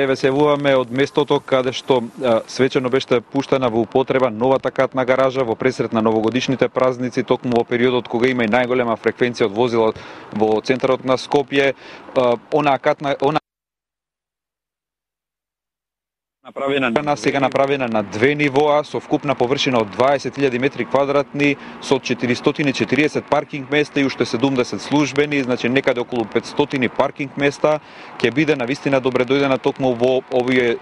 Еве се јавуваме од местото каде што свечено беше пуштена во употреба новата катна гаража во пресрет на новогодишните празници, токму во периодот кога има и најголема фреквенција од возила во центарот на Скопје. Сега направена на две нивоа со вкупна површина од 20.000 метри квадратни со 440 паркинг места и уште 70 службени, значи некаде околу 500 паркинг места ќе биде навистина добре дојдена токму во овие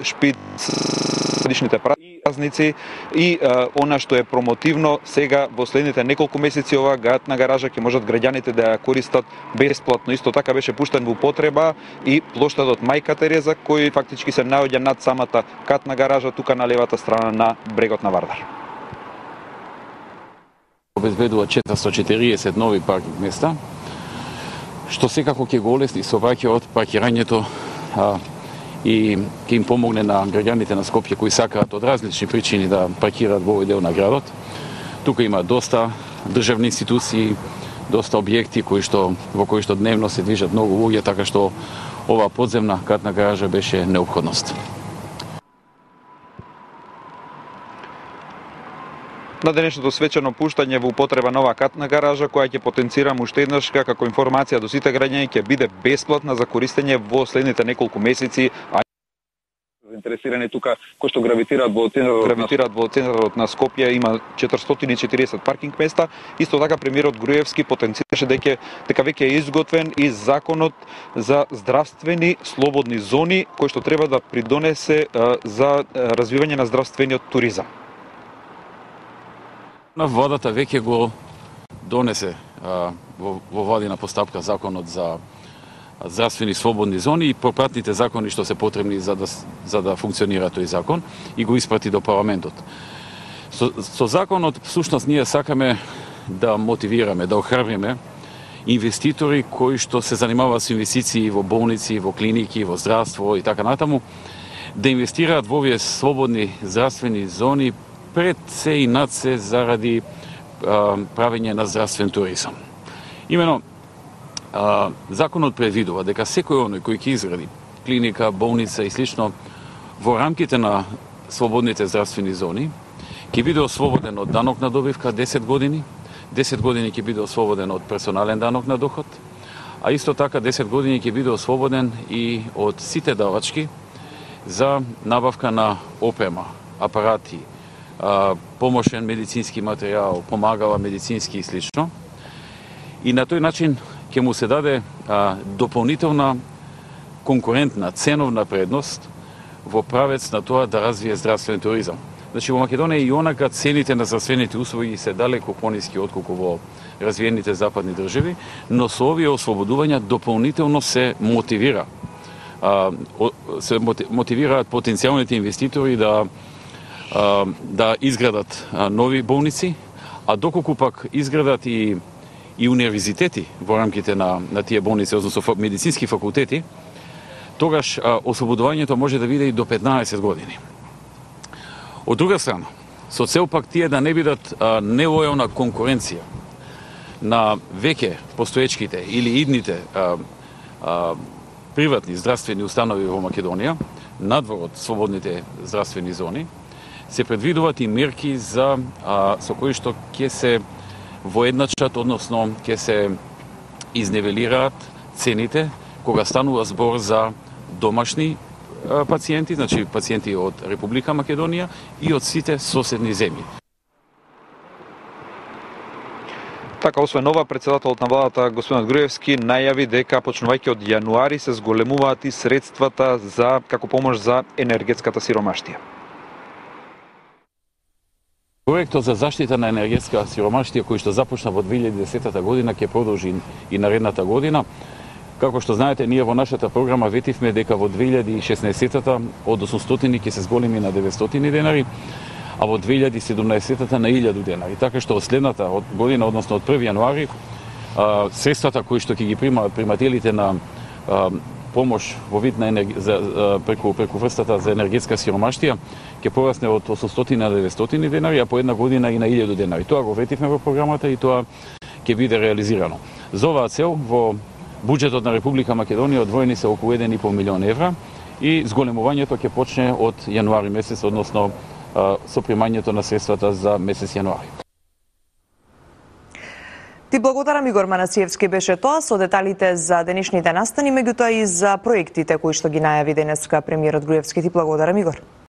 годишните празници и она што е промотивно сега во следните неколку месеци оваа катна гаража ќе можат граѓаните да ја користат бесплатно. Исто така беше пуштен во употреба и плоштадот Мајка Тереза кој фактички се наоѓа над самата катна гаража тука на левата страна на брегот на Вардар. Обезбедува 440 нови паркинг места, што секако ќе го олесни сообраќајот, паркирањето и ќе им помогне на граѓаните на Скопје кои сакаат од различни причини да паркираат во овој дел на градот. Тука има доста државни институции, доста објекти во кои што дневно се движат многу луѓе, така што оваа подземна катна гаража беше неопходност. На денешното свечено пуштање во употреба нова катна гаража, која ќе потенцирам уште еднаш како информација до сите граѓани, ќе биде бесплатна за користење во следните неколку месеци. Заинтересирани тука кои што гравитираат во центарот на Скопје, има 440 паркинг места. Исто така премиерот Груевски потенцираше дека веќе е изготвен и законот за здравствени слободни зони кој што треба да придонесе за развивање на здравствениот туризам. На владата веќе го донесе во владина постапка законот за здравствени слободни зони и пропратните закони што се потребни за да функционира тој закон и го испрати до парламентот. Со законот всушност ние сакаме да мотивираме, да охрабриме инвеститори кои што се занимаваат со инвестиции во болници, во клиники, во здравство и така натаму, да инвестираат во овие слободни здравствени зони пред се и над се заради правење на здравствен туризам. Имено, законот предвидува дека секој оној кој ќе изгради клиника, болница и слично во рамките на слободните здравствени зони ќе биде ослободен од данок на добивка 10 години, 10 години ќе биде ослободен од персонален данок на доход, а исто така 10 години ќе биде ослободен и од сите давачки за набавка на опрема, апарати, помошен медицински материјал, помагала медицински и слично. И на тој начин ќе му се даде дополнителна конкурентна ценовна предност во правец на тоа да развие здравствен туризам. Значи во Македонија и онака цените на здравствените услуги се далеко пониски отколку во развиените западни држави, но со овие ослободувања дополнително се мотивираат потенцијалните инвеститори да изградат нови болници, а доколку пак изградат и универзитети во рамките на тие болници, односно медицински факултети, тогаш ослободувањето може да биде и до 15 години. Од друга страна, со цел пак тие да не бидат нелојална конкуренција на веќе постоечките или идните приватни здравствени установи во Македонија, надвор од слободните здравствени зони, се предвидуваат и мерки со кои што ќе се воедначат, односно ќе се изнивелираат цените кога станува збор за домашни пациенти, значи пациенти од Република Македонија и од сите соседни земји. Така, освен ова, председателот на владата господинот Груевски најави дека почнувајќи од јануари се зголемуваат и средствата како помош за енергетската сиромаштија. Проектот за заштита на енергетска сиромаштија кој што започна во 2010 година ќе продолжи и наредната година. Како што знаете, ние во нашата програма ветивме дека во 2016-та од 800 ќе се зголеми на 900 денари, а во 2017-та на 1000 денари. Така што од следната година, односно од 1 јануари, средствата кои што ќе ги примаат примателите на помош во вид на преку врстата за енергетска сиромаштија ќе порасне од 800 на 900 денари, а по една година и на 1000 денари. Тоа го ветивме во програмата и тоа ќе биде реализирано. За оваа цел во буџетот на Република Македонија одвоени се околу 1,5 милион евра и зголемувањето ќе почне од јануари месец, односно со примањето на средствата за месец јануари. Ти благодарам, Игор Манасиевски беше тоа со деталите за денешните настани, меѓутоа и за проектите кои што ги најави денеска премиерот Груевски. Ти благодарам, Игор.